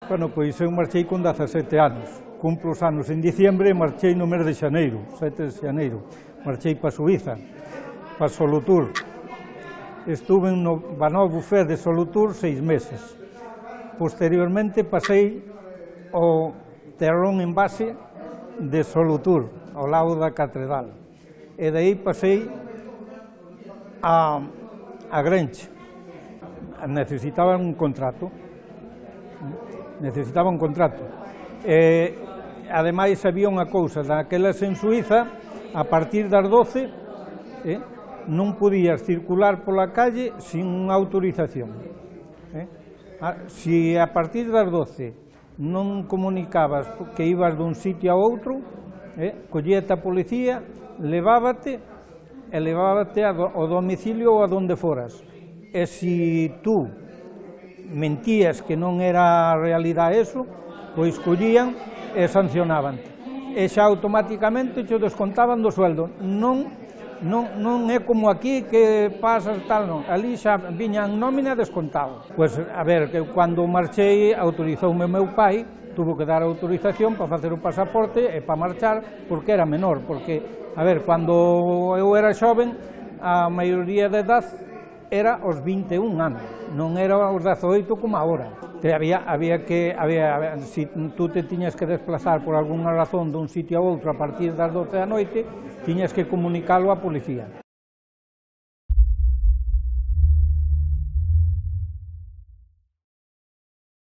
Bueno, pois eu marchei con 17 anos, cumplo os anos en diciembre e marchei no mes de xaneiro, 7 de xaneiro, marchei para Suiza, para Solutur. Estuve no Banó Buffet de Solutur 6 meses. Posteriormente pasei ao Terrón en base de Solutur, ao lado da Catedral. E daí pasei a Grenche. Necesitaba un contrato. Ademais, había unha cousa, daquelas en Suiza, a partir das 12, non podías circular pola calle sin unha autorización. Se a partir das 12 non comunicabas que ibas dun sitio a outro, collíate a policía, levábate ao domicilio ou a donde foras. E se tú mentías que non era realidade eso, pois collían e sancionaban. E xa automáticamente te descontaban do sueldo. Non é como aquí que pasas tal, non. Ali xa viñan nómina descontado. Pois, a ver, que cando marchei autorizoume o meu pai, tuvo que dar autorización para facer o pasaporte e para marchar, porque era menor, porque, a ver, cando eu era xoven, a maioría de edad era os 21 anos, non era os 18 como agora. Se tú te tiñas que desplazar por algunha razón dun sitio a outro a partir das 12 da noite, tiñas que comunicalo á policía.